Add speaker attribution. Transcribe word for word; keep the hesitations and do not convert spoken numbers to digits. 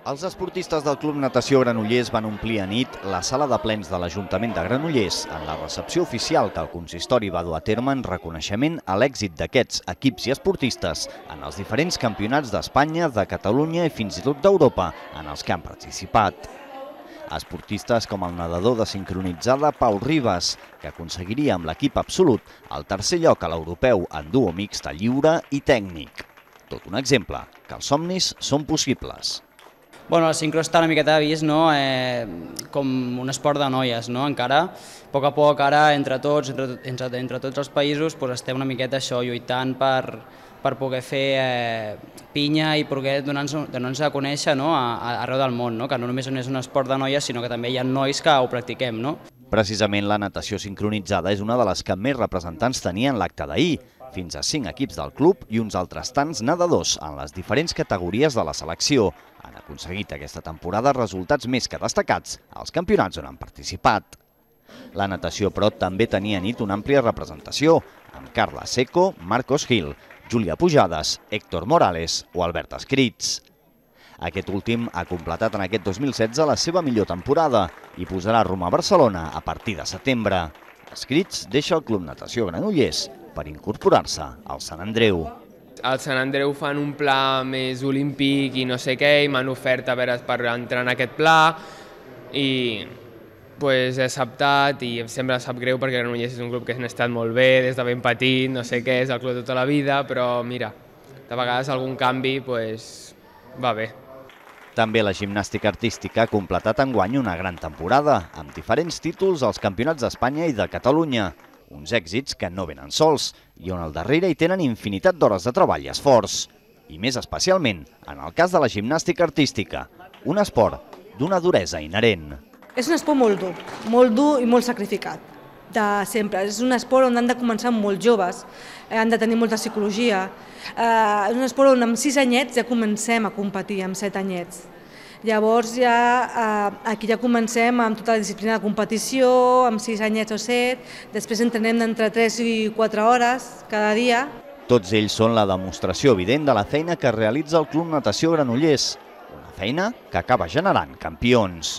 Speaker 1: Els esportistes del Club Natació Granollers van omplir a nit la sala de plens de l'Ajuntament de Granollers en la recepció oficial que el consistori va dur a terme en reconeixement a l'èxit d'aquests equips i esportistes en els diferents campionats d'Espanya, de Catalunya i fins i tot d'Europa en els que han participat. Esportistes com el nedador de sincronitzada Pau Ribas, que aconseguiria amb l'equip absolut el tercer lloc a l'europeu en duo mixta lliure i tècnic. Tot un exemple, que els somnis són possibles.
Speaker 2: Bueno, el sincro està una miqueta vist, no? eh, com un esport de noies, no? Encara, a poc a poc, ara, entre tots, entre, entre, entre tots els països, pues, estem una miqueta això, lluitant per, per poder fer eh, pinya i poder donar-nos donar a conèixer, no? a, a, arreu del món, no? Que no només és un esport de noies, sinó que també hi ha nois que ho practiquem, no?
Speaker 1: Precisament la natació sincronitzada és una de les que més representants tenien l'acte d'ahir. Fins a cinc equips del club i uns altres tants nedadors en les diferents categories de la selecció han aconseguit aquesta temporada resultats més que destacats als campionats on han participat. La natació, però, també tenia a nit una àmplia representació, amb Carla Seco, Marcos Gil, Júlia Pujades, Héctor Morales o Albert Escrits. Aquest últim ha completat en aquest dos mil setze la seva millor temporada i posarà rumb a Barcelona a partir de setembre. Escrits deixa el Club Natació Granollers per incorporar-se al Sant Andreu.
Speaker 3: Al Sant Andreu fan un pla més olímpic i no sé què, i m'han ofert a veure per entrar en aquest pla i pues, he acceptat i em sembla sap greu perquè Granollers és un club que han estat molt bé des de ben petit, no sé què, és el club de tota la vida, però mira, de vegades algun canvi pues, va bé.
Speaker 1: També la gimnàstica artística ha completat enguany una gran temporada, amb diferents títols als campionats d'Espanya i de Catalunya. Uns èxits que no venen sols i on al darrere hi tenen infinitat d'hores de treball i esforç. I més especialment en el cas de la gimnàstica artística, un esport d'una duresa inherent.
Speaker 4: És un esport molt dur, molt dur i molt sacrificat, de sempre. És un esport on han de començar molt joves, han de tenir molta psicologia. És un esport on amb sis anyets ja comencem a competir, amb set anyets. Llavors ja aquí ja comencem amb tota la disciplina de competició, amb sis anyets o set, després entrenem d'entre tres i quatre hores cada dia.
Speaker 1: Tots ells són la demostració evident de la feina que realitza el Club Natació Granollers, una feina que acaba generant campions.